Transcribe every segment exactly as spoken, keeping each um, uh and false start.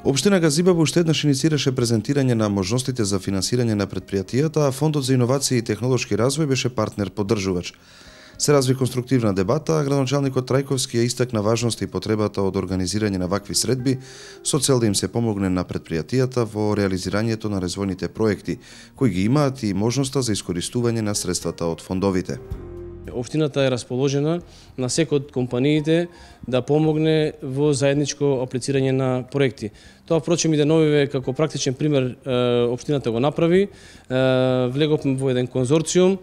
Општина Газибаба уште еднаш инициираше презентирање на можностите за финансирање на предпријатијата, а Фондот за иновации и технолошки развој беше партнер поддржувач. Се разви конструктивна дебата, а градоначалникот Трајковски ја истакна важноста и потребата од организирање на вакви средби со цел да им се помогне на предпријатијата во реализирањето на развојните проекти, кои ги имаат и можноста за искористување на средствата од фондовите. Општината е расположена на секој од компаниите да помогне во заедничко аплицирање на проекти. Тоа, впрочем, и деновиве како практичен пример општината го направи. Влеговме во еден конзорциум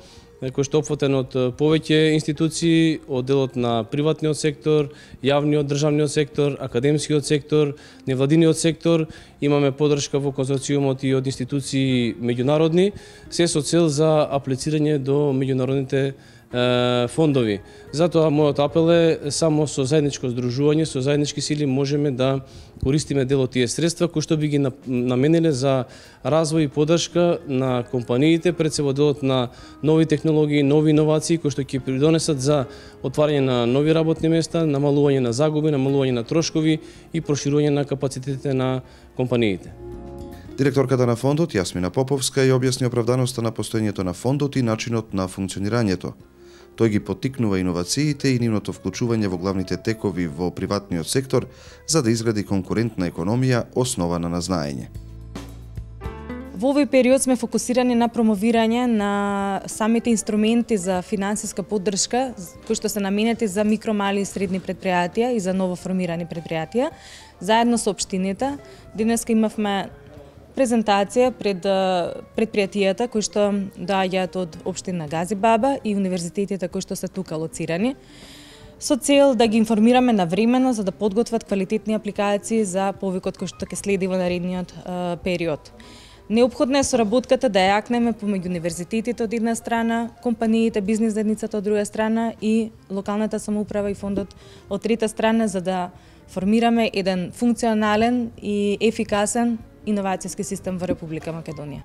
кој што е опфатен од повеќе институции, од делот на приватниот сектор, јавниот државниот сектор, академскиот сектор, невладиниот сектор. Имаме поддршка во конзорциумот и од институции меѓународни, се со цел за аплицирање до меѓународните фондови. Затоа мојот апел е само со заедничко здружување, со заеднички сили можеме да користиме дел од тие средства кои што би ги намениле за развој и поддршка на компаниите, пред се во делот на нови технологии, нови иновации кои што ќе придонесат за отварање на нови работни места, намалување на загуби, намалување на трошкови и проширување на капацитетите на компаниите. Директорката на фондот Јасмина Поповска ја објасни оправданоста на постоењето на фондот и начинот на функционирањето. Тој ги поттикнува иновациите и нивното вклучување во главните текови во приватниот сектор за да изгради конкурентна економија основана на знаење. Во овој период сме фокусирани на промовирање на самите инструменти за финансиска поддршка кои што се наменети за микро, мали и средни предпријатија и за новоформирани предпријатија. Заедно со општините денеска имавме презентација пред предпријатијата кои што доаѓаат од општина Газибаба и универзитетите кои што се тука лоцирани, со цел да ги информираме навремено за да подготват квалитетни апликации за повикот кој што ќе следи во наредниот период. Неопходна е соработката да јакнеме помеѓу универзитетите од една страна, компаниите, бизнис заедницата од друга страна и локалната самоуправа и фондот од трета страна, за да формираме еден функционален и ефикасен иновацијски систем во Република Македонија.